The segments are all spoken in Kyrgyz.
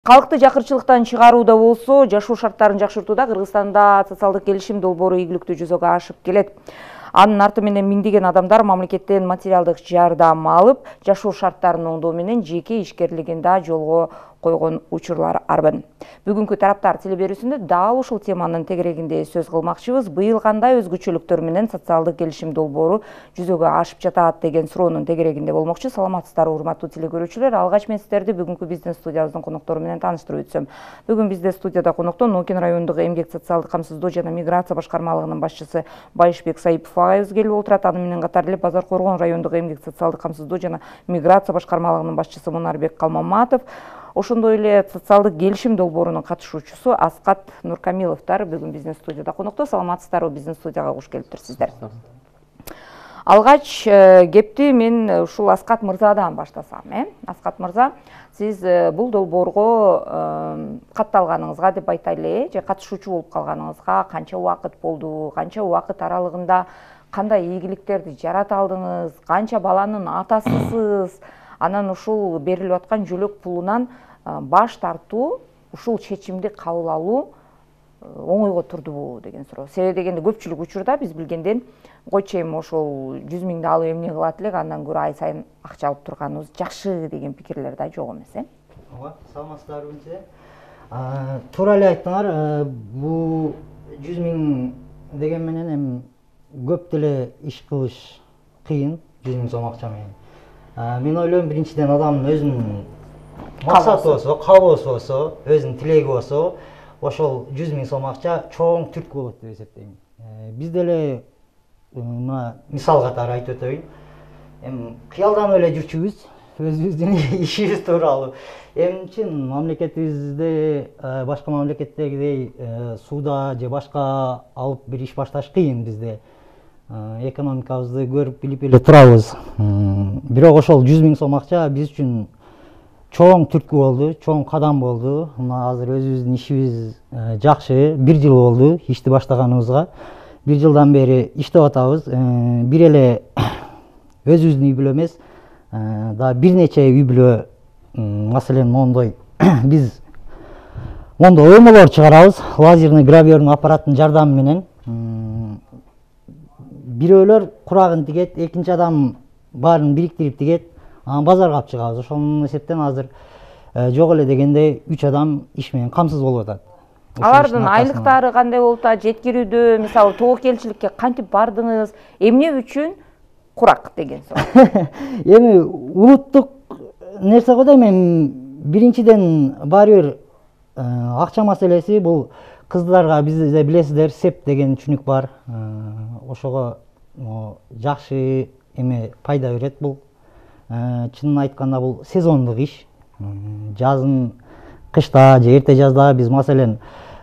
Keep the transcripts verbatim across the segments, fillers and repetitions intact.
Калкты жакырчылыктан чыгарууда болсо, жашоо шарттарын жакшыртууда Кыргызстанда социалдык келишим долбоору ийгиликтүү жүзөгө ашып келет. Анын арты менен миңдеген адамдар мамлекеттен материалдык жардам алып, жашоо шарттарын оңдоо менен жеке ишкерлигин да жолго койгон учурлар арбын. Бүгүнкү тараптар телеберүүсүндө дал ушул теманын тегерегинде сөз кылмакчыбыз. Быйыл кандай өзгөчөлүктөр менен социалдык келишим долбоору жүзөгө ашып жатат деген суроонун тегерегинде болмокчу. Саламатсыздарбы, урматтуу телекөрүүчүлөр. Алгач мен сиздерди бүгүнкү бизнес студиябыздын коноктору менен тааныштырып өтсөм. Бүгүн бизде студияда конокто Ноокен райондук эмгек социалдык камсыздоо жана миграция башкармалыгынын башчысы Байышбек Саипов агайыбыз келип отурат. Аны менен катар эле Базар Коргон райондук эмгек социалдык камсыздоо жана миграция башкармалыгынын башчысы Мунарбек Калмаматов, ошондой эле социалдык келишим долбоорунун катышуучусу Аскат Нуркамиловдор бүгүн бизнес студияда конокто. Саламатсыздарбы, бизнес студияга куш келиптирсиздер. Алгач кепти мен ушул Аскат мырзадан баштасам, э? Аскат мырза, сиз бул долбоорго катталганыңызга деп айтайлы, же катышуучу болуп калганыңызга канча убакыт болду, канча убакыт аралыгында кандай ийгиликтерди жарата алдыңыз, канча баланын атасысыз, анан ушул берилип аткан жөлөк пулунан баш тартуу, ушул чечимди кабыл алуу оңойго турдубу деген суроо. Себеби дегенде көпчүлүк учурда биз билгенден койчу эми ошол жүз миңди алып эмне кылат элек, андан көрө ай сайын акча алып турганыбыз жакшы деген пикирлер да жок эмес, э? Ооба, саламатсыздарбы эмсе? Туура эле айттыңар, бул жүз миң деген менен эми көп деле иш кылыш кыйын, жүз миң сом акча менен. Мен ойлойм, биринчиден адамдын өзүнүн максаты болсо, каалоосу болсо, өзүнүн тилеги болсо, ошол жүз миң сом акча чоң түрткү болот деп эсептейм. Биз деле мына мисал катары айтып өтөйүн. Эми кыялданып эле жүрчүбүз, өзүбүздүн ишибиз тууралуу. Эми чын мамлекетибизде башка мамлекеттегидей сууда же башка алып бир иш башташ кыйын бизде. Экономикабызды көрүп билип эле турабыз. Бирок ошол жүз миң сом акча биз үчүн чоң түрткү болду, чоң кадам болду. Мына азыр өзүбүздүн ишибиз жакшы, бир жыл болду ишти баштаганыбызга. Бир жылдан бери иштеп атабыз. Бир эле өзүбүздүн үй бүлө эмес, да бир нече үй бүлө, маселен, мондой биз мондой оймолор чыгарабыз, лазерный гравёрный аппараттын жардамы менен. Бирөөлөр курагын тигет, экинчи адам баарын бириктирип тигет, анан базарга алып чыгабыз. Ошонун эсептен азыр жок эле дегенде үч адам иш менен камсыз болуп атат. Алардын айлыктары кандай болуп атат, жеткирүүдө, мисалы тоокелчиликке кантип бардыңыз, эмне үчүн курак деген суроо. Эми улуттук нерсе го дейм, эми биринчиден баары бир акча маселеси, бул кыздарга бизде билесиздер, сеп деген түшүнүк бар. Ошого жакшы эме пайда берет бул. Чынын айтканда бул сезондук иш. Жазын, кышта же эрте жазда биз маселен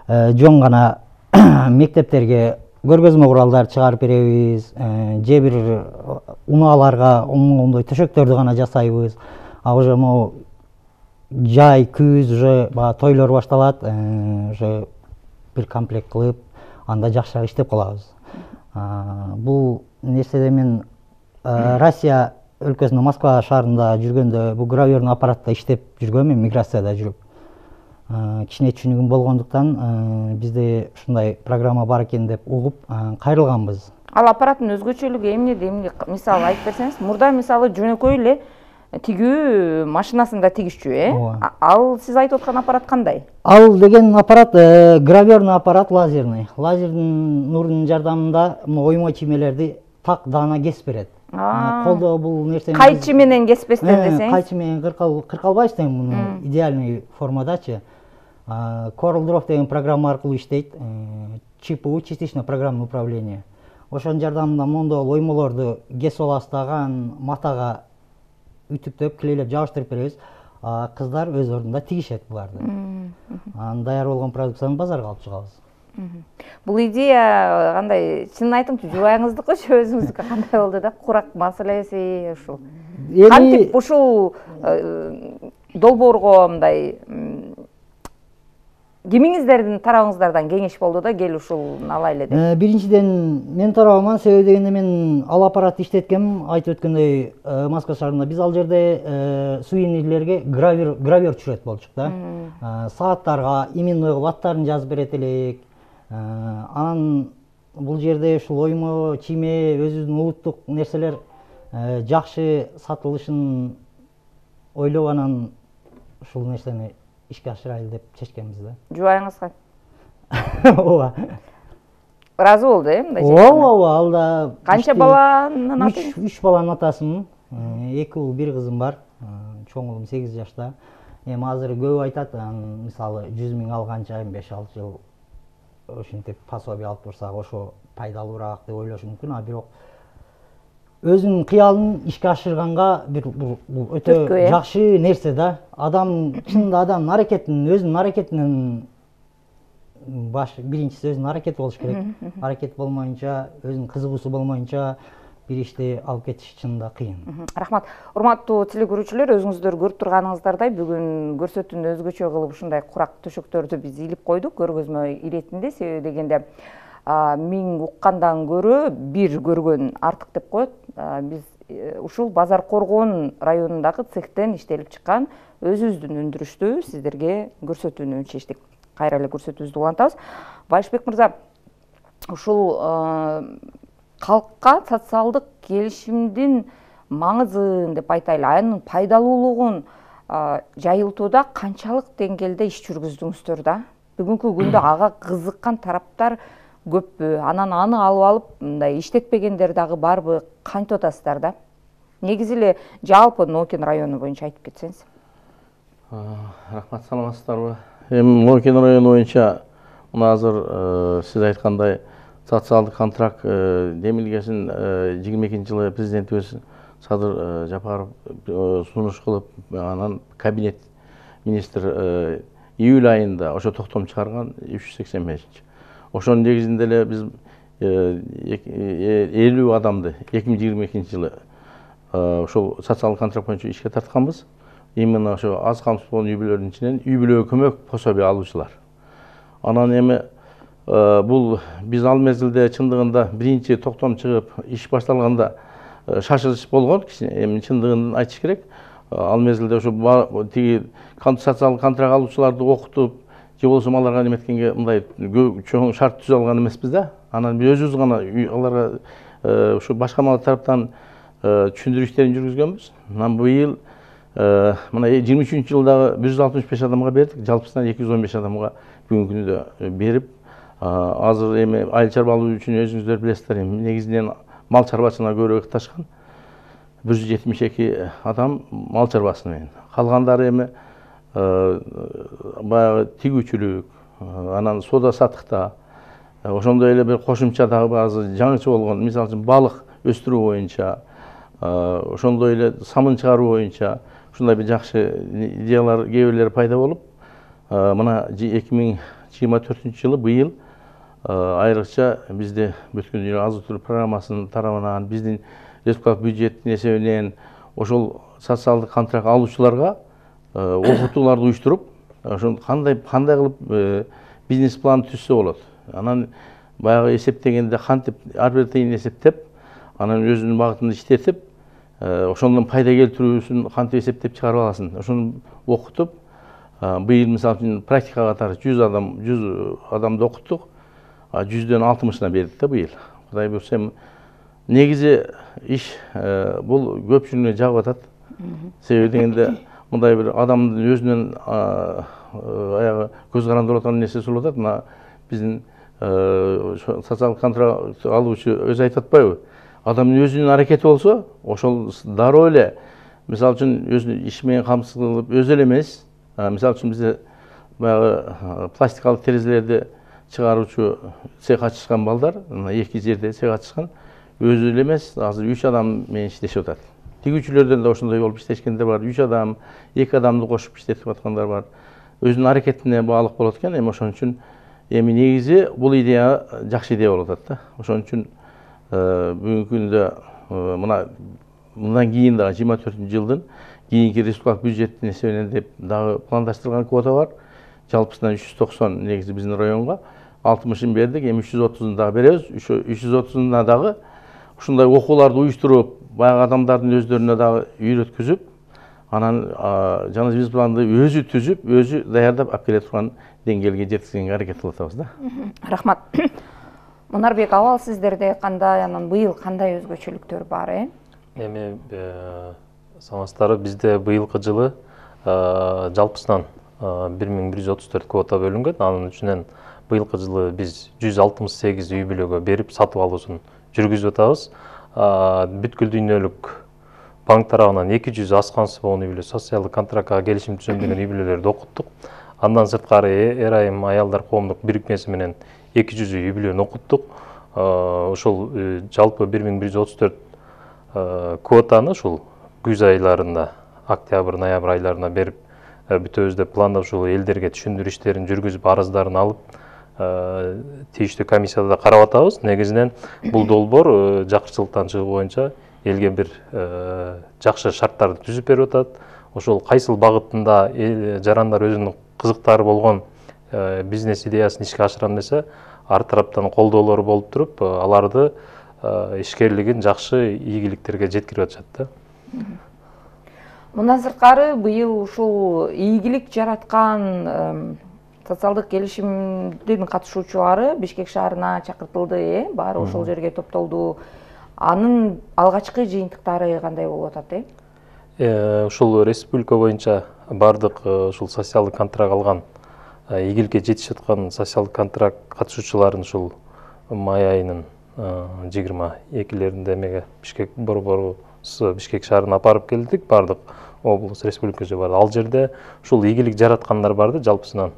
жон гана мектептерге көргөзмө куралдар чыгарып беребиз, же бир унааларга оңондой төшөктөрдү гана жасайбыз. А уже могу жай, күз, уже баа тойлор башталат, уже бир комплект кылып, анда жакшыраак иштеп калабыз. Бул нерседе мен Россия өлкөсүндө Москва шаарында жүргөндө бул гравёрный аппаратта иштеп жүргөм, мен миграцияда жүрүп. Кичине түшүнүгүм болгондуктан бизде ушундай программа бар экен деп угуп кайрылганбыз. Ал аппараттын өзгөчөлүгү эмнеде? Эмне мисалы айтып берсеңиз? Мурда мисалы жөнөкөй эле тигүү машинасында тигишчү, э? Ал сиз айтып аткан аппарат кандай? Ал деген аппарат гравёрный аппарат, лазерный. Лазердин нурунун жардамында оймой чиймелерди так даана кесип берет. Колдо бул нерсени кайчы менен кеспестен десеңиз? Кайчы менен кыркалбайсыз эми муну идеальный формадачы. CorelDRAW деген программа аркылуу иштейт. ЧПУ, частичное программное управление. Ошонун жардамында мондо оймолорду кесип аласыз дагы, матага үтүктөп, клейлеп жабыштырып беребиз. Кыздар өз ордунда тигишет буларды. Анан даяр болгон продукцияны базарга алып чыгабыз. Бул идея кандай, чынын айтыңызчы, жубайыңыздыкы же өзүңүздүкү кандай болду да? Курак маселеси ушул. Кантип ушул долбоорго мындай кимиңиздердин тарабыңыздардан кеңеш болду да кел ушул алайлы деп? Биринчиден мен тарабыман, себеби дегенде мен ал аппаратты иштеткем. Айтып өткөндөй, Москва шаарында биз ал жерде сувенирлерге гравюр гравюр түшүрөт болчук да. Сааттарга именной кылып аттарын жазып берет элек. Анан бул жерде ушул оймо, чийме, өзүбүздүн улуттук нерселер жакшы сатылышын ойлоп, анан ушул нерсени ишке ашырайлы деп чечкенбиз да. Жубайыңызга? Ооба. Ыраазы болду э, мындай чечкенге? Ооба, ооба, ал да. Канча баланын аты? үч баланын атасымын. эки уул, бир кызым бар. Чоң уулум сегиз жашта. Эми азыр көп айтат, мисалы жүз миң алганча беш алты жыл ошентип пособие алып турсак ошо пайдалуураак деп ойлошу мүмкүн. А бирок өзүнүн кыялын ишке ашырганга бир бул өтө жакшы нерсе да. Адам чынында адамдын аракетин, өзүнүн аракетинен баш биринчиси өзүнүн аракети болуш керек. Аракет болмоюнча, өзүнүн кызыгуусу болмоюнча бир ишти алып кетиш чынында кыйын. Рахмат. Урматтуу телекөрүүчүлөр, өзүңүздөр көрүп турганыңыздардай бүгүн көрсөтүүнү өзгөчө кылып ушундай курак төшөктөрдү биз илип койдук, көргөзмө иретинде. Себеби дегенде миң уккандан көрө бир көргөн артык деп коет. Биз ушул Базар Коргон районундагы цехтен иштелип чыккан өзүбүздүн өндүрүштү сиздерге көрсөтүүнү чечтик. Кайра эле көрсөтүүбүздү улантабыз. Байшбек мырза, ушул калкка социалдык келишимдин маңызын деп айтайлы, анын пайдалуулугун жайылтууда канчалык деңгээлде иш жүргүздүңүздөр да? Бүгүнкү күндө ага кызыккан тараптар көппү? Анан аны алып алып, мындай иштетпегендер дагы барбы? Кантип атасыздар да? Негизи эле жалпы Ноокин району боюнча айтып кетсеңиз. Рахмат, саламатсыздарбы? Эми Ноокин району боюнча мына азыр сиз айткандай социалдык контракт демилгесин жыйырма экинчи жылы президентибиз Садыр Жапаров сунуш кылып, анан кабинет министр июль айында ошо токтом чыгарган үч жүз сексен бешинчи. Ошонун негизинде эле биз элүү адамды эки миң жыйырма экинчи жылы ошол социалдык контракт боюнча ишке тартканбыз. Именно ошо аз камсыз болгон үй бүлөлөрдүн ичинен үй бүлөгө көмөк пособие алуучулар. Анан эми бул биз ал мезгилде чындыгында биринчи токтом чыгып иш башталганда шашылыш болгон. Эми чындыгын айтыш керек. Ал мезгилде ошо тиги социалдык контракт алуучуларды окутуп, же болбосо аларга неметкенге мындай чоң шарт түзүп алган эмеспиз да. Анан биз өзүбүз гана аларга ушу башкарма тараптан түшүндүрүү иштерин жүргүзгөнбүз. Анан быйыл мына жыйырма үчүнчү жылдагы бир жүз алтымыш беш адамга бердик, жалпысынан эки жүз он беш адамга бүгүнкү күндө берип, азыр эми айыл чарбалуу үчүн өзүңүздөр билесиздер, эми негизинен мал чарбачылыгына көбүрөөк ташкан. бир жүз жетимиш эки адам мал чарбасы менен. Калгандары эми баягы тигүүчүлүк, анан соода саттыкта, ошондой эле бир кошумча дагы баазы жаңыча болгон, мисалы үчүн балык өстүрүү боюнча, ошондой эле самын чыгаруу боюнча ушундай бир жакшы идеялар кээ бирлери пайда болуп, мына эки миң жыйырма төртүнчү жылы быйыл айрыкча бизде бүткүл дүйнө азык түлүк программасынын тарабынан биздин республикалык бюджеттин эсебинен ошол социалдык контракт алуучуларга окутууларды уюштуруп, ошол кандай кандай кылып бизнес план түзсө болот. Анан баягы эсептегенде кантип ар бир тыйын эсептеп, анан өзүнүн багытында иштетип, ошондон пайда келтирүүсүн кантип эсептеп чыгарып аласын, ошону окутуп, быйыл мисалы үчүн практика катары жүз адам жүз адамды окуттук, жүздөн алтымышына бердик да быйыл. Кудай буйрса, негизи иш бул көпчүлүгүнө жагып атат. Себеби дегенде мындай бир адамдын өзүнөн аягы көз карандырып аткан нерсеси болуп атат. Мына биздин социалдык контракт алуучу өзү айтып атпайбы? Адамдын өзүнүн аракети болсо, ошол дароо эле мисалы үчүн өзүнүн иш менен камсыз кылып өзү эле эмес, мисалы үчүн бизде баягы пластикалык терезелерди чыгаруучу цех ачышкан балдар, эки жерде цех ачышкан, өзү эле эмес, азыр үч адам менен иштешип атат. Тигүүчүлөрдөн да ошондой болуп иштешкендер бар, үч адам, эки адамды кошуп иштетип аткандар бар. Өзүнүн аракетине баалык болот экен, эми ошон үчүн эми негизи бул идея жакшы идея болуп атат да. Ошон үчүн бүгүнкү күндө мына мындан кийин дагы жыйырма төртүнчү жылдын кийинки республикалык бюджеттин эсебинен деп дагы пландаштырылган квота бар. жалпысынан үч жүз токсон негизи биздин районго алтымышын бердик, эми үч жүз отузун дагы беребиз. үч жүз отузуна дагы ушундай окууларды уюштуруп, баягы адамдардын өздөрүнө дагы үйрөткүзүп, анан жаңы биз планды өзү түзүп, өзү даярдап алып келе турган деңгээлге жеткизгенге аракет кылып атабыз да. Рахмат. Мунарбек, абал сиздерде кандай, анан быйыл кандай өзгөчөлүктөр бар, э? Эми саламатсыздарбы, бизде быйылкы жылы жалпысынан бир миң бир жүз отуз төрт квота бөлүнгөн. Анын үчүнөн быйылкы жылы биз жүз алтымыш сегиз үй бүлөгө берип сатып алуусун жүргүзүп атабыз. Бүткүл дүйнөлүк банк тарабынан эки жүз аскансыз болгон үй бүлө социалдык контрактка келишим түзүлгөн үй бүлөлөрдү окуттук. Андан сырткары эр айым аялдар коомдук бирикмеси менен эки жүз үй бүлөнү окуттук. Ошол жалпы бир миң бир жүз отуз төрт квотаны ушул күз айларында, октябрь, ноябрь айларына берип бүтөбүз деп пландап ушул элдерге түшүндүрүү иштерин жүргүзүп, арыздарын алып, тийиштүү комиссияда карап атабыз. Негизинен бул долбоор жакырчылыктан чыгуу боюнча элге бир жакшы шарттарды түзүп берип атат. Ошол кайсыл багытында жарандар өзүнүн кызыктары болгон бизнес идеясын ишке ашырам десе, ар тараптан колдоолору болуп туруп, аларды ишкерлигин жакшы ийгиликтерге жеткирип атышат да. Мындан сырткары быйыл ушул ийгилик жараткан социалдык келишимдин катышуучулары Бишкек шаарына чакыртылды, э? Баары ошол жерге топтолду. Анын алгачкы жыйынтыктары кандай болуп атат, э? Ушул республика боюнча бардык ушул социалдык контракт алган, ийгиликке жетишип аткан социалдык контракт катышуучуларын ушул май айынын жыйырма экилеринде эмеге Бишкек борборусу Бишкек шаарына апарып келдик, бардык облус республикасы бар. Ал жерде ушул ийгилик жараткандар барды, жалпысынан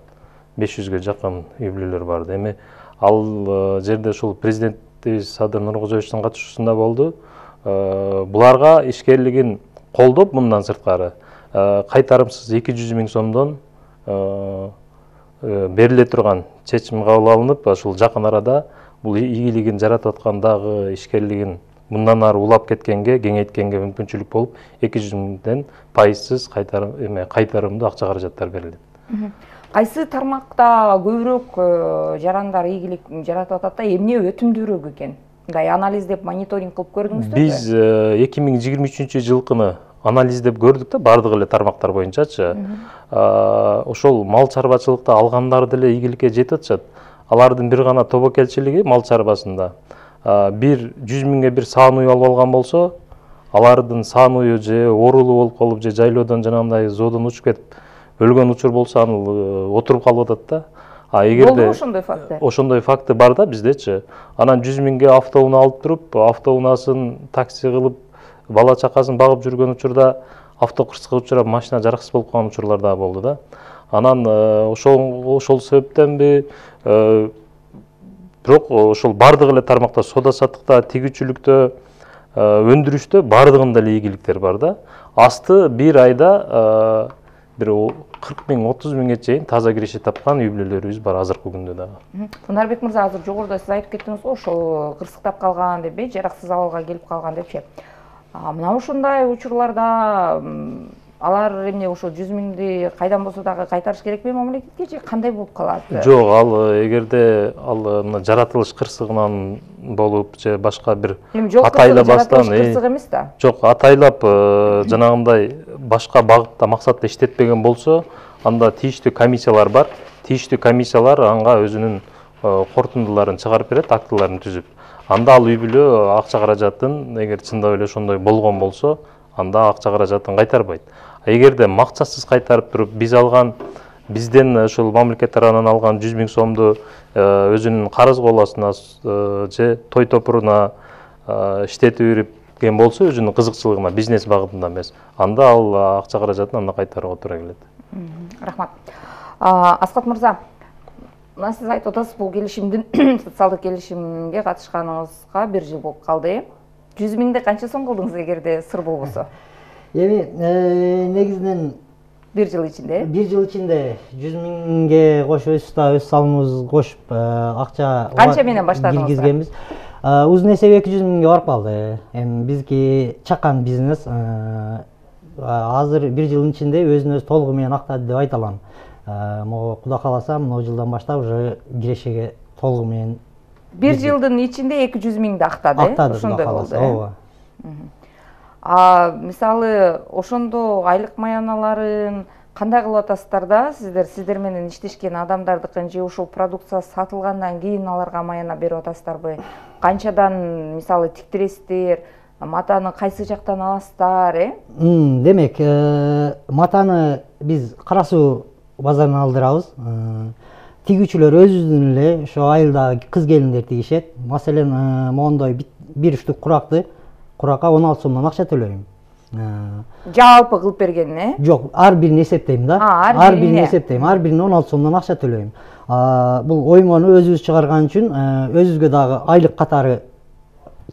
беш жүзгө жакын үй бүлөлөр барды. Эми ал жерде ушул президентибиз Садыр Нуркожоевичтин катышуусунда болду. Буларга ишкерлигин колдоп, мындан сырткары кайтарымсыз эки жүз миң сомдон бериле турган чечим кабыл алынып, ушул жакын арада бул ийгилигин жаратып аткан дагы ишкерлигин мындан ары улап кеткенге, кеңейткенге мүмкүнчүлүк болуп, эки жүз миңден пайызсыз кайтарым эме кайтарымдуу акча каражаттар берилди. Кайсы тармакта көбүрөөк жарандар ийгилик жаратып атат да, эмне өтүмдүүрөөк экен? Мындай анализдеп, мониторинг кылып көрдүңүздөр? Биз эки миң жыйырма үчүнчү жылкыны анализдеп көрдүк да, бардык эле тармактар боюнчачы. Ошол мал чарбачылыкта алгандар деле ийгиликке жетип атышат. Алардын бир гана тобокелчилиги мал чарбасында бир жүз миңге бир саан уй алып алган болсо, алардын саан уйу же оорулуу болуп калып, же жайлоодон жанагындай зоодон учуп кетип өлгөн учур болсо, аны отуруп калып атат да. А эгерде болду ошондой факты? Ошондой факты бар да биздечи. Анан жүз миңге автоунаа алып туруп, автоунаасын такси кылып, бала чакасын багып жүргөн учурда автокырсыкка учурап, машина жараксыз болуп калган учурлар да болду да. Анан ошол ошол себептенби, бирок ошол бардык эле тармакта, соода саттыкта, тигүүчүлүктө, өндүрүштө бардыгында эле ийгиликтер бар да. Асты бир айда бир кырк миң, отуз миңге чейин таза киреше тапкан үй бүлөлөрүбүз бар азыркы күндө дагы. Мунарбек мырза, азыр жогоруда сиз айтып кеттиңиз го, ошол кырсыктап калган деп, жараксыз абалга келип калган депчи. Мына ушундай учурларда алар эмне ошо жүз миңди кайдан болсо дагы кайтарыш керекпи мамлекетке, же кандай болуп калат? Жок, ал эгерде ал мына жаратылыш кырсыгынан болуп же башка бир атайлабастан, кырсык эмес да. Жок, атайлап жанагындай башка багытта максатта иштетпеген болсо, анда тийиштүү комиссиялар бар. Тийиштүү комиссиялар анга өзүнүн корутундуларын чыгарып берет, актыларын түзүп. Анда ал үй бүлө акча каражатын, эгер чындап эле ошондой болгон болсо, анда акча каражатын кайтарбайт. Эгерде максатсыз кайтарып туруп, биз алган, бизден ошол мамлекет тарабынан алган жүз миң сомду өзүнүн карыз коласына же той топуруна иштетип берген болсо, өзүнүн кызыкчылыгына, бизнес багытында эмес, анда ал акча каражатын анда кайтарууга туура келет. Рахмат. Аскат мырза, мына сиз айтып атасыз, бул келишимдин социалдык келишимге катышканыңызга бир жыл болуп калды. жүз миңди канча сом кылдыңыз, эгерде сыр болбосо? Эми негизинен бир жыл ичинде? бир жыл ичинде жүз миңге кошуп, өз өз салымыбызды кошуп акча канча менен баштадыңыз? Киргизгенбиз. Узун эсеби эки жүз миңге барып калды. Эми бизки чакан бизнес. Азыр бир жылдын ичинде өзүн өзү толугу менен актады деп айта алам. могу Кудай кааласа мына жылдан баштап уже кирешеге толугу менен бир жылдын ичинде эки жүз миңди актады э актады ошондой болду. ооба. А мисалы ошондо айлык маяналарын кандай кылып атасыздар да сиздер сиздер менен иштешкен адамдардыкын же ушул продукция сатылгандан кийин аларга маяна берип атасыздарбы? Канчадан мисалы тиктиресиздер, матаны кайсы жактан аласыздар, э? Демек, матаны биз Кара Суу базарынан алдырабыз. Тигүүчүлөр өзүнүн эле ошо айылдагы кыз келиндер тигишет. Маселен, мондой бир штук куракты куракка он алты сомдон акча төлөйм. Жалпы кылып бергенин, э? Жок, ар бирин эсептейм да. Ар бирин эсептейм. Ар бирине он алты сомдон акча төлөйм. Бул оймону өзүбүз чыгарган үчүн өзүбүзгө дагы айлык катары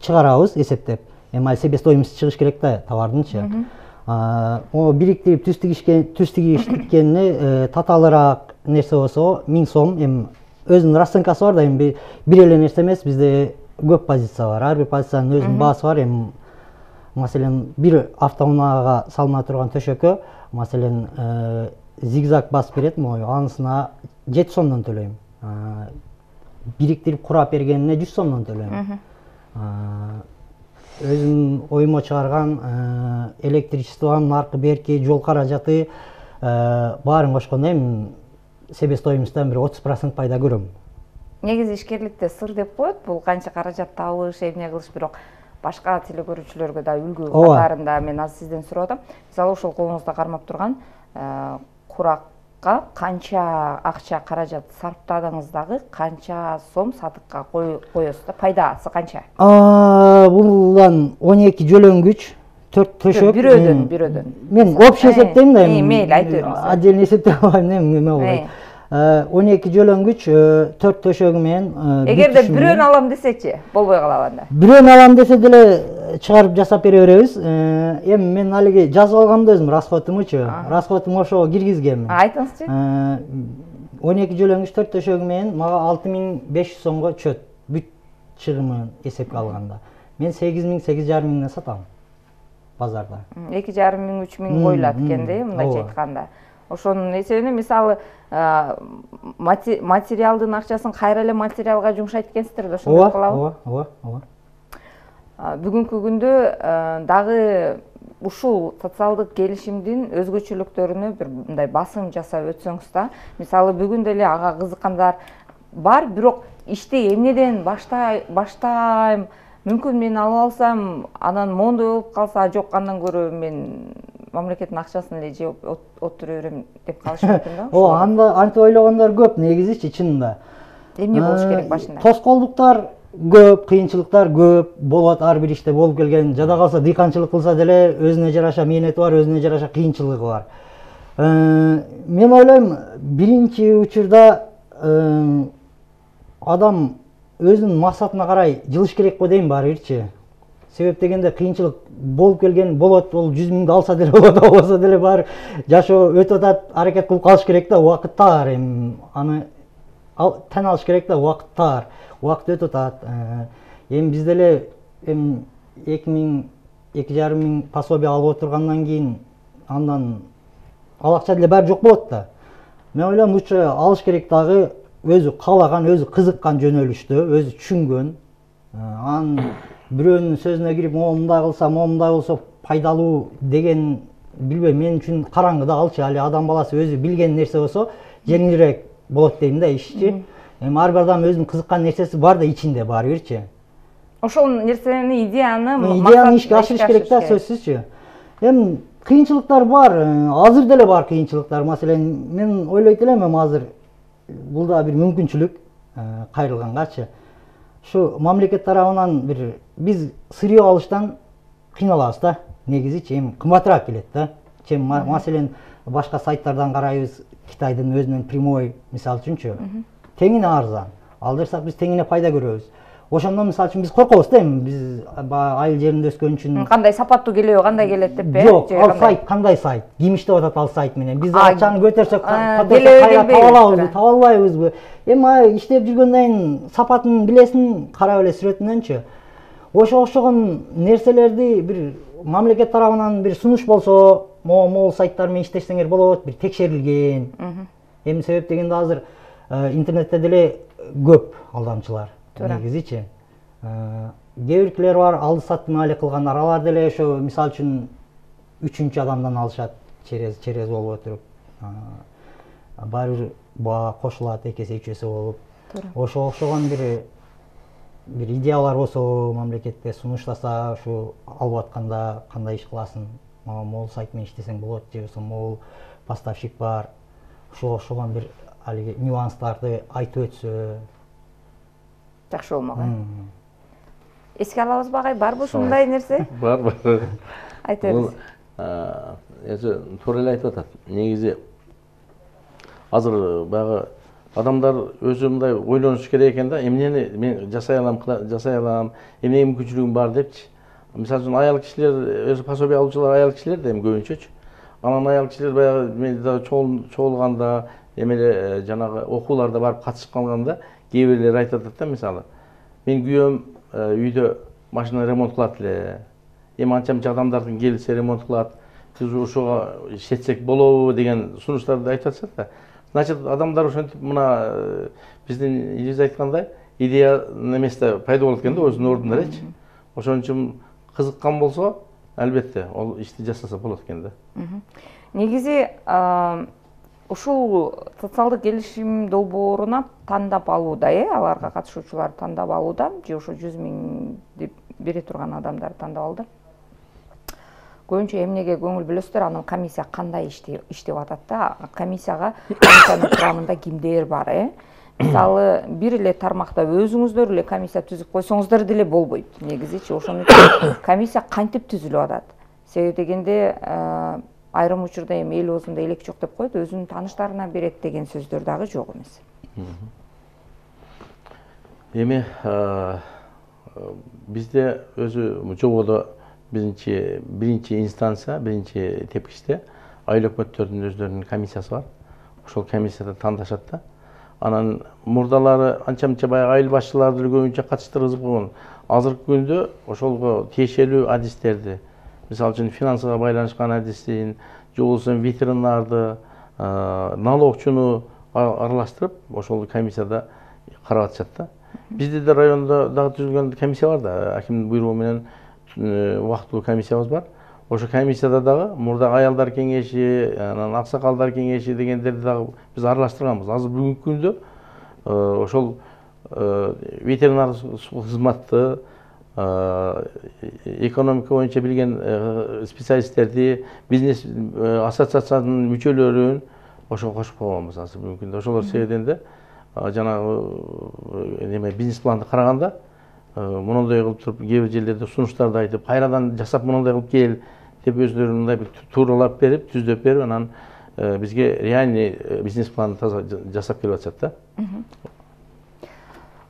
чыгарабыз эсептеп. Эми ал себестоимость чыгыш керек да товардынчы. О бириктирип түз тигишкен түз тигишкенине татаалыраак нерсе болсо миң сом. Эми өзүнүн расценкасы бар да, эми бир эле нерсе эмес, бизде көп позиция бар. Ар бир позициянын өзүнүн баасы бар. Эми маселен бир автоунаага салына турган төшөккө маселен зигзаг басып берет, могу анысына жети сомдон төлөйм. Бириктирип курап бергенине жүз сомдон төлөйм. Өзүм оймо чыгарган электричествонун аркы берки жол каражаты баарын кошкондо эми себестоимостьтан бир отуз процент пайда көрөм. Негизи ишкерликте сыр деп коет, бул канча каражат табыш, эмне кылыш, бирок башка теле көрүүчүлөргө да үлгү катарында мен азыр сизден сурап атам. Мисалы ошол колуңузда кармап турган куракка канча акча каражат сарптадыңыз дагы, канча сом сатыкка коесуз да, пайдасы канча? Булдан он эки жөлөнгүч, төрт төшөк. Бирөөдөн, бирөөдөн. Мен общий эсептейм да, мейли айта бериңиз. Отдельно эсептей албайм, эме болбойт. он эки жөлөнгүч, төрт төшөгү менен. Эгерде бирөөнү алам десечи, болбой калабы анда? Бирөөнү алам десе деле чыгарып жасап бере беребиз. Эми мен алиги жазып алгам да өзүм расходумучу. Расходум ошого киргизгенмин. Айтыңызчы. он эки жөлөнгүч, төрт төшөгү менен мага алты миң беш жүз сомго чөт. Бүт чыгымын эсепке алганда. Мен сегиз миң, сегиз жарым миңден сатам базарда. эки жарым миң, үч миң коюлат экен да, мындайча айтканда. Ошонун эсебинен мисалы материалдын акчасын кайра эле материалга жумшайт экенсиздер да, ошондой кылабы? Ооба, ооба, ооба. Бүгүнкү күндө дагы ушул социалдык келишимдин өзгөчөлүктөрүнө бир мындай басым жасап өтсөңүз да. Мисалы бүгүн деле ага кызыккандар бар, бирок ишти эмнеден баштайм, мүмкүн мен алып алсам анан мондой болуп калса, жок андан көрө мен мамлекеттин акчасын эле жеп отура берем деп калышы мүмкүн да. Ооба, анда антип ойлогондор көп негизичи, чынында. Эмне болуш керек башында? Тоскоолдуктар көп, кыйынчылыктар көп болот, ар бир иште болуп келген. Жада калса дыйканчылык кылса деле өзүнө жараша мээнети бар, өзүнө жараша кыйынчылыгы бар. Мен ойлойм, биринчи учурда адам өзүнүн максатына карай жылыш керек го дейм баары бирчи. Себеп дегенде кыйынчылык болуп келген болот, ол жүз миңди алса деле болот, албаса деле баары жашоо өтүп атат, аракет кылып калыш керек да, убакыт таар, эми аны тан алыш керек да, убакыт таар, убакыт өтүп атат. Эми биз деле эми эки миң, эки жарым миң пособие алып отургандан кийин андан ал акча деле баары жок болот да. Мен ойлойм, лучше алыш керек дагы өзү каалаган, өзү кызыккан жөнөлүштө, өзү түшүнгөн. Анан бирөөнүн сөзүнө кирип, могу мындай кылса, могу мындай болсо пайдалуу деген билбейм, мен үчүн караңгыда алчы. Али адам баласы өзү билген нерсе болсо жеңилирээк болот дейм да ишчи. Эми ар бир адам өзүнүн кызыккан нерсеси бар да ичинде баары бирчи. Ошол нерсени, идеяны идеяны ишке ашырыш керек да, сөзсүзчү. Эми кыйынчылыктар бар, азыр деле бар кыйынчылыктар. Маселен, мен ойлойт элем, эми азыр бул да бир мүмкүнчүлүк кайрылгангачы. Şu мамлекет тарабынан бир биз сырье алыштан кыйналабыз да, негизичи эми кымбатыраак келет да. Чем маселен башка сайттардан карайбыз, Китайдын өзүнүн прямой мисалы үчүнчү, теңине арзан. Алдырсак биз теңине пайда көрөбүз. Ошондон мисалы үчүн биз коркобуз да, эми биз айыл жеринде өскөн үчүн кандай сапаттуу келеби, кандай келет деп э? Жок, ал сайт кандай сайт? Ким иштеп атат ал сайт менен? Биз акчаны көтөрсөк, кайра таба алабызбы, таба албайбызбы? Эми иштеп жүргөндөн кийин сапатын билесиң, карап эле сүрөтүнөнчү. Ошо окшогон нерселерди бир мамлекет тарабынан бир сунуш болсо, могу сайттар менен иштесеңер болот, бир текшерилген. Эмне себеп дегенде азыр интернетте деле көп алдамчылар негизичи. Кээ биркилер бар, алды саттын али кылгандар, алар деле ошо мисалы үчүн үчүнчү адамдан алышат, через через болуп отуруп. Баары бир баа кошулат, эки эсе, үч эсе болуп. Ошого окшогон бир бир идеялар болсо, мамлекетке сунуштаса, ушу алып атканда кандай иш кыласың, мага могул сайт менен иштесең болот, же болбосо могул поставщик бар. Ошого окшогон бир алиги нюанстарды айтып өтсө жакшы болмок. Эске алабызбы агай, барбы ушундай нерсе? Бар, бар. Айта бериңиз. Эже туура эле айтып атат. Негизи азыр баягы адамдар өзү мындай ойлонуш керек экен да, эмнени мен жасай алам, жасай алам, эмне мүмкүнчүлүгүм бар депчи. Мисалы үчүн аял кишилер, өзү пособие алуучулар аял кишилер да эми көбүнчөчү. Анан аял кишилер баягы мен да чогулганда, эмеле жанагы окууларда барып катышып калганда, кээ бирлери айтып атат да, мисалы, мен күйөөм үйдө машина ремонт кылат эле. Эми анча-мынча адамдардын келсе ремонт кылат, биз ошого иштетсек болобу деген сунуштарды айтып атышат да. Значит, адамдар ошентип мына биздин Илиз айткандай идея неместе пайда болот экен да, өзүнүн ордунда элечи. Ошон үчүн кызыккан болсо, албетте, ол ишти жасаса болот экен да. Негизи ушул социалдык келишим долбооруна тандап алууда, э, аларга катышуучулар тандап алууда, же ошо жүз миң деп бере турган адамдар тандап алды. Көбүнчө эмнеге көңүл бөлөсүздөр, анан комиссия кандай иштеп атат да, комиссияга комиссиянын курамында кимдер бар, э? Мисалы, бир эле тармакта өзүңүздөр эле комиссия түзүп койсоңуздар деле болбойт, негизичи. Ошон үчүн комиссия кантип түзүлүп атат? Себеби дегенде айрым учурда эми эл оозунда элек жок деп коет, өзүнүн тааныштарына берет деген сөздөр дагы жок эмес. Эми бизде өзү жободо биринчи биринчи инстанция, биринчи тепкичте айыл өкмөттөрдүн өздөрүнүн комиссиясы бар. Ошол комиссияда тандашат да. Анан мурдалары анча-мынча баягы айыл башчыларды көбүнчө катыштыргызып койгон. Азыркы күндө ошолго тиешелүү адистерди, мисалы үчүн финансыга байланышкан адисин, же болбосо ветеринарды, налогчуну аралаштырып, ошол комиссияда карап атышат да. Бизде да райондо дагы түзүлгөн комиссия бар да, акимдин буйругу менен убактылуу комиссиябыз бар. Ошо комиссияда дагы мурда аялдар кеңеши, анан аксакалдар кеңеши дегендерди дагы биз аралаштырганбыз. Азыр бүгүнкү күндө ошол ветеринар кызматты, экономика боюнча билген специалисттерди, бизнес ассоциациянын мүчөлөрүн ошого кошуп койгонбуз азыр бүгүнкү күндө. Ошолор себебинен да жанагы неме бизнес планды караганда мындай кылып туруп, кээ бир жерлерде сунуштарды айтып, кайрадан жасап мындай кылып кел деп өздөрү мындай бир тууралап берип, түздөп берип, анан бизге реальный бизнес планды жасап келип атышат да.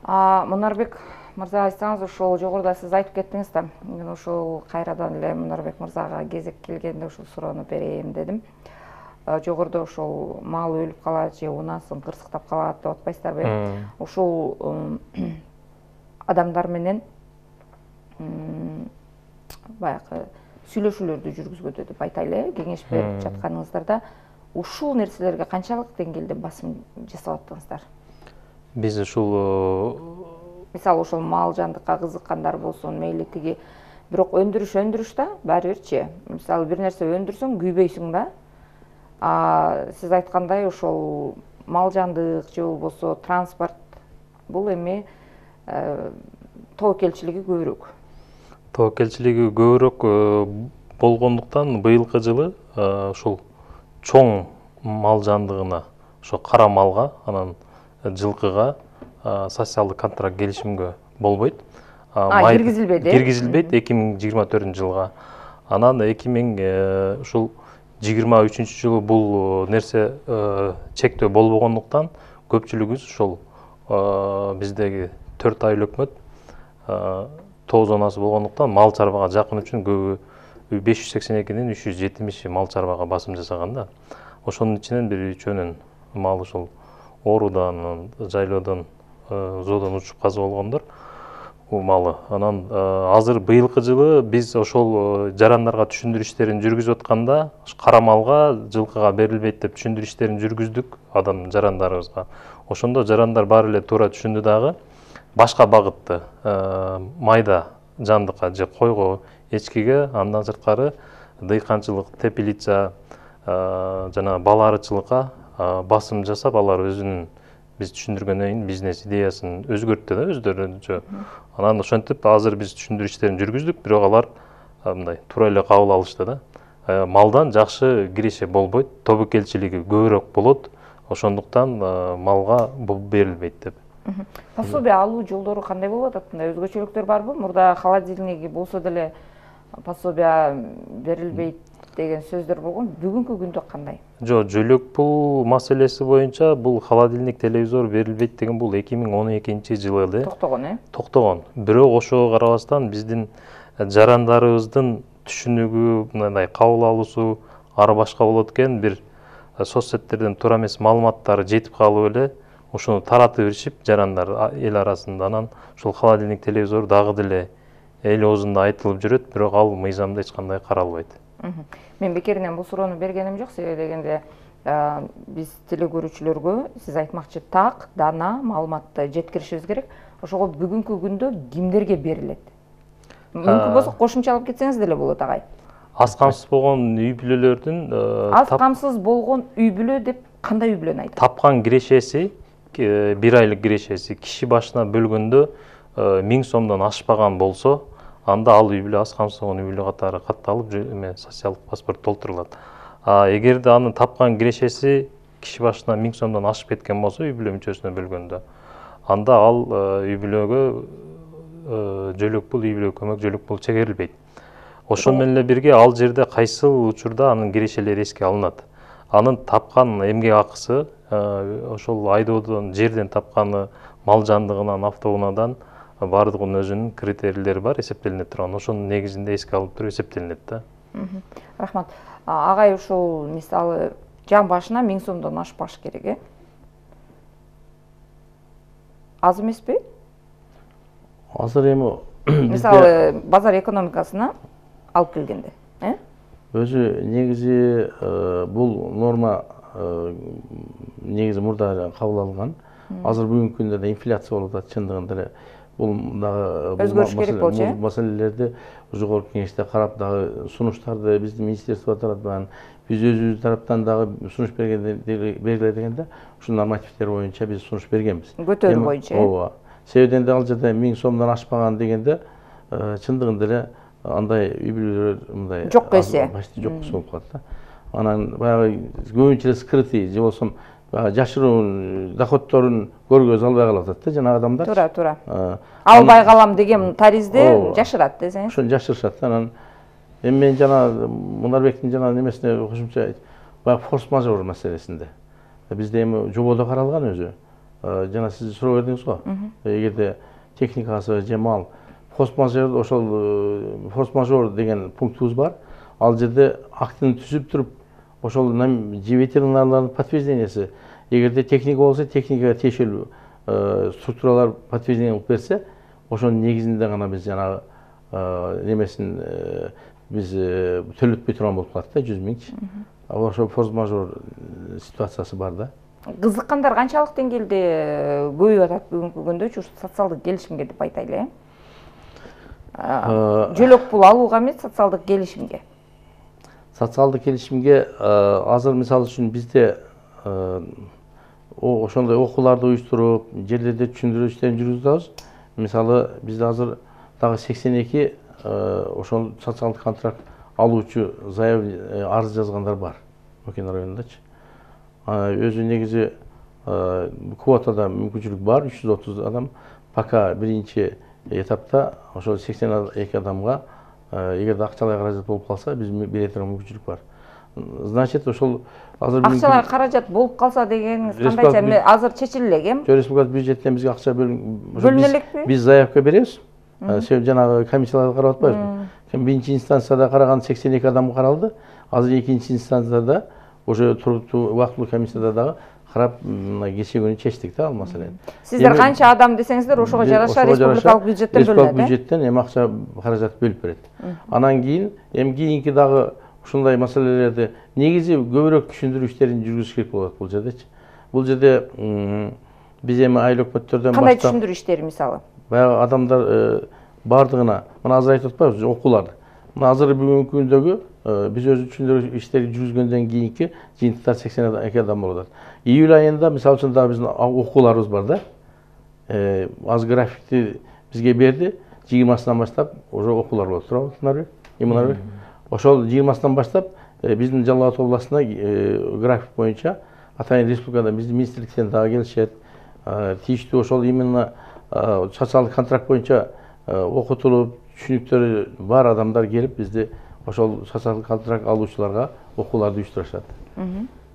Мунарбек мырза, айтсаңыз, ошол жогоруда сиз айтып кеттиңиз да, мен ошол кайрадан эле Мунарбек мырзага кезек келгенде ошол суроону берейин дедим. Жогоруда ошол мал өлүп калат же унасын кырсыктап калат деп атпайсыздарбы? Ошол адамдар менен баягы сүйлөшүүлөрдү жүргүзгөдө деп айтайлы, кеңеш берип жатканыңыздарда ушул нерселерге канчалык деңгээлде басым жасап аттыңыздар? Биз ушул мисалы ошол мал жандыкка кызыккандар болсун, мейли тиги, бирок өндүрүш өндүрүш да, баары бирчи. Мисалы бир нерсе өндүрсөң күйбөйсүң да. А сиз айткандай ошол мал жандык же болбосо транспорт бул эми тобокелчилиги көбүрөөк. Тобокелчилиги көбүрөөк болгондуктан быйылкы жылы ушул чоң мал жандыгына, ошо кара малга, анан жылкыга социалдык контракт келишимге болбойт. Киргизилбейт, э? Киргизилбейт эки миң жыйырма төртүнчү жылга. Анан эки миң ушул жыйырма үчүнчү жылы бул нерсе чектөө болбогондуктан көпчүлүгүбүз ушул биздеги төрт айыл өкмөт тоғыз зонасы болгондуктан мал чарбага жакын үчүн көбү беш жүз сексен экинин үч жүз жетимиши мал чарбага басым жасаган да. Ошонун ичинен бир үчөөнүн мал ушул оорудан, жайлоодон, зоодон учуп каза болгондор. малы. Анан азыр быйылкы жылы биз ошол жарандарга түшүндүрүү иштерин жүргүзүп атканда кара малга, жылкыга берилбейт деп түшүндүрүү иштерин жүргүздүк адам жарандарыбызга. Ошондо жарандар баары эле туура түшүндү дагы башка багытты майда жандыкка же койго, эчкиге, андан сырткары дыйканчылык, тепилица, жана бала арычылыкка басым жасап, алар өзүнүн биз түшүндүргөндөн кийин бизнес идеясын өзгөрттү да өздөрүнчө. Анан ошентип азыр биз түшүндүрүү иштерин жүргүздүк, бирок алар мындай туура эле кабыл алышты да. Малдан жакшы киреше болбойт, тобокелчилиги көбүрөөк болот, ошондуктан малга берилбейт деп. Пособие алуу жолдору кандай болуп атат? Мындай өзгөчөлүктөр барбы? Мурда холодильниги болсо деле пособие берилбейт деген сөздөр болгон. Бүгүнкү күндө кандай? Жок, жөлөк пул маселеси боюнча бул холодильник, телевизор берилбейт деген бул эки миң он экинчи жылы эле токтогон, э? Токтогон. Бирок ошого карабастан биздин жарандарыбыздын түшүнүгү, мындай кабыл алуусу ары башка болот экен, бир соц сеттерден туура эмес маалыматтар жетип калып эле ошону таратып беришип жарандар эл арасында. Анан ушул холодильник, телевизор дагы деле эл оозунда айтылып жүрөт, бирок ал мыйзамда эч кандай каралбайт. Мен бекеринен бул суроону бергеним жок, себеби дегенде биз теле көрүүчүлөргө сиз айтмакчы так, дана маалыматты жеткиришибиз керек. Ошого бүгүнкү күндө кимдерге берилет? Мүмкүн болсо кошумча алып кетсеңиз деле болот, агай. Аз камсыз болгон үй бүлөлөрдүн аз камсыз болгон үй бүлө деп кандай үй бүлөнү айтат? Тапкан кирешеси, бир айлык кирешеси киши башына бөлгөндө миң сомдон ашпаган болсо, анда ал үй бүлө аз камсыз болгон үй бүлө катары катталып, социалдык паспорт толтурулат. А эгерде анын тапкан кирешеси киши башына миң сомдон ашып кеткен болсо, үй бүлө мүчөсүнө бөлгөндө, анда ал үй бүлөгө жөлөк пул, үй бүлө көмөк жөлөк пул чегерилбейт. Ошол менен эле бирге ал жерде кайсыл учурда анын кирешелери эске алынат. Анын тапкан эмгек акысы, ошол айдоодон, жерден тапканы, мал жандыгынан, автоунаадан баардыгынын өзүнүн критерийлери бар, эсептелине турган. Ошонун негизинде эске алып туруп эсептелинет да. Рахмат. Агай ушул мисалы жан башына миң сомдон ашпаш керек, э? Аз эмеспи? Азыр эми мисалы базар экономикасына алып келгенде, э? Өзү негизи бул норма негизи мурда кабыл алынган. Азыр бүгүнкү күндө да инфляция болуп атат, чындыгында эле. Бул дагы өзгөрүш керек болчу, э? Маселелерди жогорку кеңеште карап, дагы сунуштарды биздин министерство таратпаган, биз өзүбүз тараптан дагы сунуш бергенде бергиле дегенде, ушул нормативдер боюнча биз сунуш бергенбиз. Көтөрүү боюнча, э? Ооба. Себебинде ал жерде миң сомдон ашпаган дегенде, чындыгында эле андай үй бүлөлөр мындай жок эсе. Почти жок болуп калат да. Анан баягы көбүнчө эле скрытый же болсо жашыруун доходторун көргөзө албай калып атат да жана адамдар. Туура, туура. Албай калам деген таризде жашырат десеңиз. Ошону жашырышат. Анан эми мен жана Мунарбектин жана немесине кошумча баягы форс-мажор маселесинде. Бизде эми жободо каралган өзү. Жана сиз суроо бердиңиз го. Эгерде техникасы же мал форс-мажор, ошол форс-мажор деген пунктубуз бар. Ал жерде актын түзүп туруп, ошол ветеринарлардын подтверждениясы, эгерде техника болсо, техникага тиешелүү структуралар подтверждение кылып берсе, ошонун негизинде гана биз жанагы немесин биз төлөтпөй турган болуп калат да, жүз миңчи. Ошол форс-мажор ситуациясы бар да. Кызыккандар канчалык деңгээлде көбөйүп атат бүгүнкү күндө ушу социалдык келишимге деп айтайлы, э? Жөлөк пул алууга эмес, социалдык келишимге. Социалдык келишимге азыр мисалы үчүн бизде ошондой окууларды уюштуруп, жерлерде түшүндүрүү иштерин жүргүзүп атабыз. Мисалы бизде азыр дагы сексен эки ошол социалдык контракт алуучу заявление арыз жазгандар бар Мөкөн районундачы. Өзү негизи квотада мүмкүнчүлүк бар, үч жүз отуз адам. Пока биринчи этапта ошол сексен эки адамга эгерде акчалай каражат болуп калса, биз бере турган мүмкүнчүлүк бар. Значит, ошол азыр акчалай каражат болуп калса дегениңиз кандайча? Азыр чечиле элек, э? Республика бюджеттен бизге акча бөлүнө элекпи? Биз заявка беребиз. Себеби жанагы комиссияларды карап атпайбызбы? Биринчи инстанцияда караган сексен эки адам каралды. Азыр экинчи инстанцияда уже туруктуу убактылуу комиссияда дагы карап мына кечээ күнү чечтик да ал маселени. Сиздер канча адам десеңиздер ошого жараша республикалык бюджеттен бөлүнөт. Республикалык бюджеттен эми акча каражат бөлүп берет. Анан кийин эми кийинки дагы ушундай маселелерди негизи көбүрөөк түшүндүрүү иштерин жүргүзүш керек болот бул жердечи. Бул жерде биз эми айыл өкмөттөрдөн кандай түшүндүрүү иштери мисалы? Баягы адамдар бардыгына мына азыр айтып атпайбызбы окууларды. Мына азыр бүгүнкү күндөгү биз өзү түшүндүрүү иштери жүргүзгөндөн кийинки жыйынтыктар сексен эки адам болуп атат. Июль айында мисалы үчүн дагы биздин окууларыбыз бар да. Аз графикти бизге берди. жыйырмасынан баштап уже окуулар болот. Туурабы? Имунар. Ошол жыйырмасынан баштап биздин Жалал Абад областына график боюнча атайын республикада биздин министрликтен дагы келишет. Тийиштүү ошол именно социалдык контракт боюнча окутулуп, түшүнүктөрү бар адамдар келип бизди ошол социалдык контракт алуучуларга окууларды уюштурушат.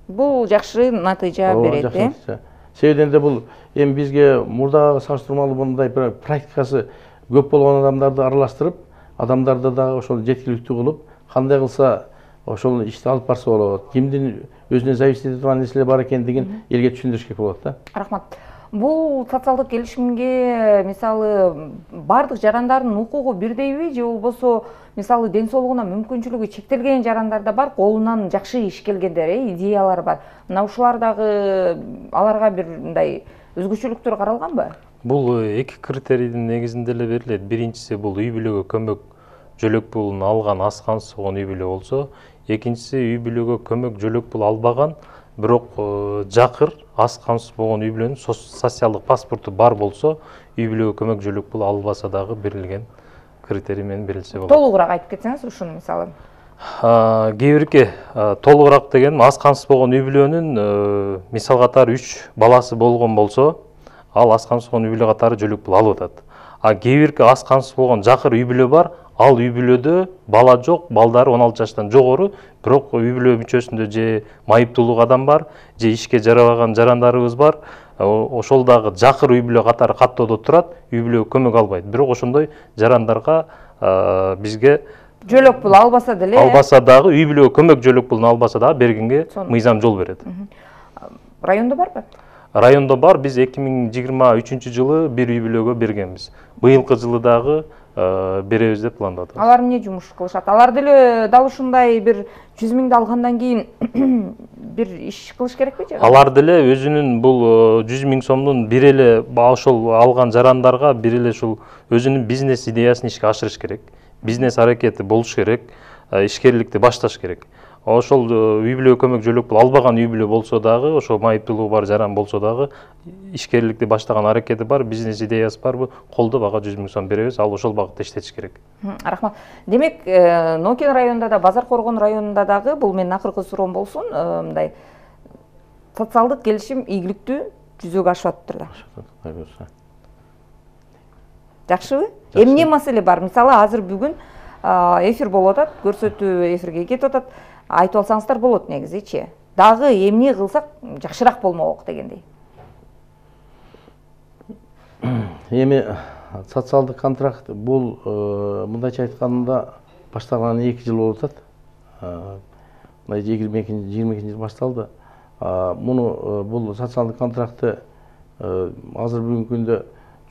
Бул жакшы натыйжа берет, э? Себебинде де бул эми бизге мурдагы салыштырмалуу мындай практикасы көп болгон адамдарды аралаштырып, адамдарды дагы ошол жеткиликтүү кылып, кандай кылса ошол ишти алып барса болот, кимдин өзүнө зависит эте турган нерселер бар экендигин элге түшүндүрүш керек болот да. Рахмат. Бул социалдык келишимге мисалы бардык жарандардын укугу бирдейби же болбосо мисалы ден соолугуна мүмкүнчүлүгү чектелген жарандар да бар, колунан жакшы иш келгендер, э, идеялар бар. Мына ушулар дагы аларга бир мындай өзгөчөлүктөр каралганбы? Бул эки критерийдин негизинде эле берилет. Биринчиси бул үй бүлөгө көмөк жөлөк пулун алган, аз камсыз болгон үй бүлө болсо, экинчиси үй бүлөгө көмөк жөлөк пул албаган, бирок жакыр аз камсыз болгон үй бүлөнүн социалдык паспорту бар болсо, үй бүлөгө көмөк жөлөк пул албаса дагы берилген критерий менен берилсе болот. Толугураак айтып кетсеңиз ушуну мисалы. Кээ бирки толугураак деген аз камсыз болгон үй бүлөнүн мисал катары үч баласы болгон болсо, ал аз камсыз болгон үй бүлө катары жөлөк пул алып атат. А кээ бирки аз камсыз болгон жакыр үй бүлө бар, ал үй бүлөдө бала жок, балдары он алты жаштан жогору, бирок үй бүлө мүчөсүндө же майыптуулук адам бар, же ишке жарабаган жарандарыбыз бар. Ошол дагы жакыр үй бүлө катары каттоодо турат, үй бүлөгө көмөк албайт. Бирок ошондой жарандарга бизге жөлөк пул албаса деле, албаса дагы үй бүлөгө көмөк жөлөк пулун албаса дагы бергенге мыйзам жол берет. Райондо барбы? Райондо бар. Биз эки миң жыйырма үчүнчү жылы бир үй бүлөгө бергенбиз. Быйылкы жылы дагы беребиз деп пландап атабыз. Алар эмне жумуш кылышат? Алар деле дал ушундай бир жүз миңди алгандан кийин бир иш кылыш керекпи же? Алар деле өзүнүн бул жүз миң сомдун бир эле ошол алган жарандарга бир эле ушул өзүнүн бизнес идеясын ишке ашырыш керек. Бизнес аракети болуш керек, ишкерликти башташ керек. Ошол үй бүлөгө көмөк жөлөк пул албаган үй бүлө болсо дагы, ошо майыптуулугу бар жаран болсо дагы, ишкерликти баштаган аракети бар, бизнес идеясы барбы, колдоп ага жүз миң сом беребиз, ал ошол багытта иштетиш керек. Рахмат. Демек, Нокен районунда да, Базар Коргон районунда дагы, бул менин акыркы суроом болсун, мындай социалдык келишим ийгиликтүү жүзөгө ашып атыптыр да. Жакшыбы? Эмне маселе бар? Мисалы, азыр бүгүн эфир болуп атат, көрсөтүү эфирге кетип атат. Айтып алсаңыздар болот негизичи. Дагы эмне кылсак жакшыраак болмок дегендей. Эми социалдык контракт бул мындайча айтканда башталган эки жыл болуп атат. Мына жыйырма экинчи жыл башталды. Муну бул социалдык контрактты азыр бүгүнкү күндө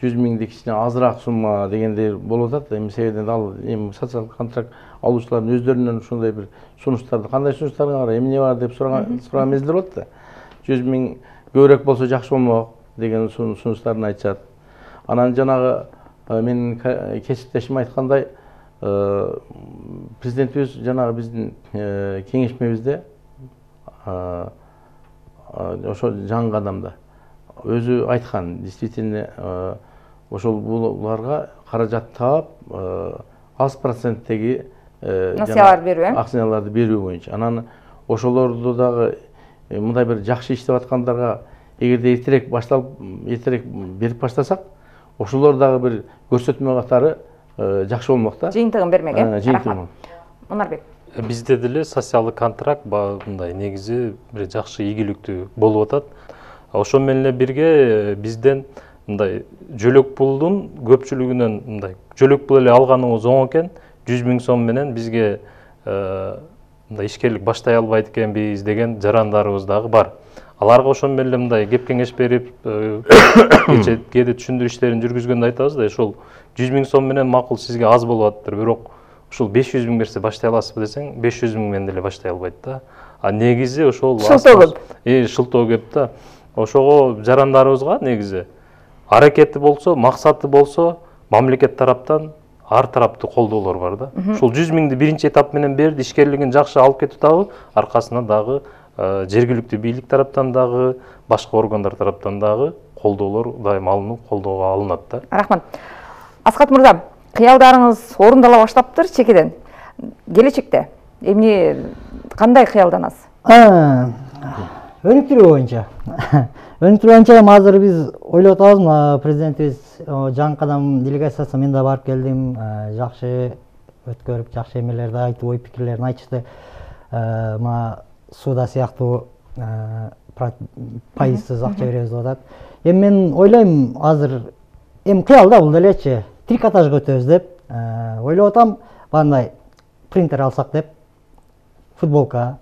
жүз миңди кичине азыраак сумма дегендей болуп атат. Эми себебинен ал эми социалдык контракт алуучулардын өздөрүнөн ушундай бир сунуштарды, кандай сунуштарга карай, эмне бар деп сураган сураган мезгилдер болот да. жүз миң көбүрөөк болсо жакшы болмок деген сунуштарын айтышат. Анан жанагы менин кесиптешим айткандай, президентибиз жанагы биздин кеңешмебизде ошо жаңы кадамда өзү айткан, действительно ошол буларга каражат таап аз проценттеги акциялар берүү, э? Акцияларды берүү боюнча. Анан ошолорду дагы мындай бир жакшы иштеп аткандарга эгерде эртерээк башталып, эртерээк берип баштасак, ошолор дагы бир көрсөтмө катары жакшы болмок да. Жыйынтыгын бермек, э? Жыйынтыгын. Мунарбек. Бизде деле социалдык контракт мындай негизи бир жакшы ийгиликтүү болуп атат. Ошо менен эле бирге бизден мындай жөлөк пулдун көпчүлүгүнөн мындай жөлөк пул эле алганыбыз оң экен, жүз миң сом менен бизге мындай ишкерлик баштай албайт экенбиз деген жарандарыбыз дагы бар. аларга ошону эле мындай кеп кеңеш берип кече кээде түшүндүрүү иштерин жүргүзгөндө айтабыз да, ошол жүз миң сом менен макул сизге аз болуп атыптыр, бирок ушул беш жүз миң берсе баштай аласызбы десең, беш жүз миң менен деле баштай албайт да. А негизи ошол шылтоо көп. Э, шылтоо көп да. Ошого жарандарыбызга негизи аракети болсо, максаты болсо, мамлекет тараптан ар тараптуу колдоолор бар да. Ушул жүз миңди биринчи этап менен берди, ишкерлигин жакшы алып кетип дагы, аркасынан дагы жергиликтүү бийлик тараптан дагы, башка органдар тараптан дагы колдоолор дайыма алынып, колдоого алынат да. Рахмат. Аскат мырза, кыялдарыңыз орундала баштаптыр чекеден. Келечекте эмне кандай кыялданасыз? Өнүктүрүү боюнча. Өнүктүрүү боюнча эми азыр биз ойлоп атабыз, мына президентибиз жаңы кадам делегациясы мен да барып келдим, жакшы өткөрүп, жакшы эмелерди айтып, ой пикирлерин айтышты. Мына сууда сыяктуу пайызсыз акча беребиз деп атат. Эми мен ойлойм, азыр эми кыял да бул делечи, трикотажга өтөбүз деп ойлоп атам, бандай принтер алсак деп, футболка,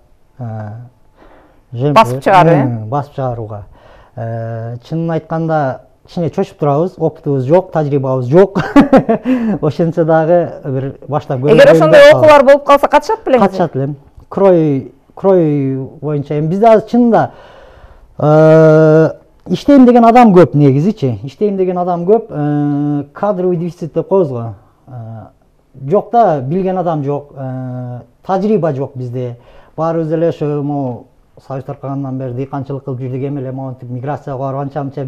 басып чыгаруу, басып чыгарууга. Чынын айтканда кичине чочуп турабыз, опытыбыз жок, тажрыйбабыз жок. Ошентсе дагы бир баштап көрүп. Эгер ошондой окуулар болуп калса катышат белеңиз? Катышат элем. Крой, крой боюнча эми бизде азыр чынында иштейм деген адам көп негизичи. Иштейм деген адам көп, кадровый дефицит деп коебуз го. Жок да, билген адам жок, тажрыйба жок бизде. Баарыбыз эле ошо могу Союз таркагандан бери дыйканчылык кылып жүрдүк, эми эле монтип миграцияга барып анча-мынча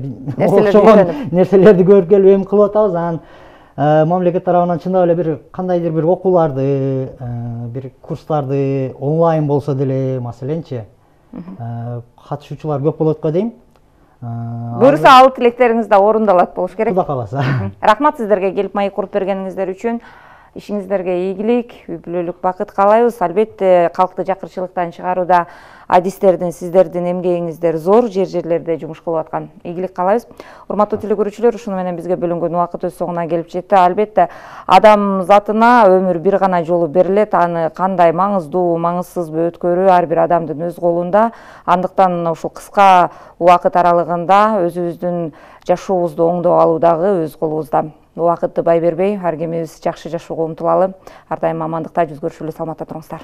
окшогон нерселерди көрүп келип эми кылып атабыз. Анан мамлекет тарабынан чындап эле бир кандайдыр бир окууларды, бир курстарды онлайн болсо деле, маселенчи, катышуучулар көп болот го дейм. Буюрса ал тилектериңиз да орундалат болуш керек. Кудай кааласа. Рахмат сиздерге келип маек куруп бергениңиздер үчүн. Ишиңиздерге ийгилик, үй бүлөлүк бакыт каалайбыз. Албетте калкты жакырчылыктан чыгарууда адистердин, сиздердин эмгегиңиздер зор, жер-жерлерде жумуш кылып аткан. Ийгилик каалайбыз. Урматтуу телекөрүүчүлөр, ушуну менен бизге бөлүнгөн убакыт өз соңуна келип жетти. Албетте адам затына өмүр бир гана жолу берилет. Аны кандай маңыздуу, маңызсызбы өткөрүү ар бир адамдын өз колунда. Андыктан ушул кыска убакыт аралыгында өзүбүздүн жашообузду оңдоп алуу дагы өз колубузда. Убакытты бай бербей, ар кимибиз жакшы жашоого умтулалы. Ар дайым амандыкта жүз көрүшөлү, саламатта туруңуздар.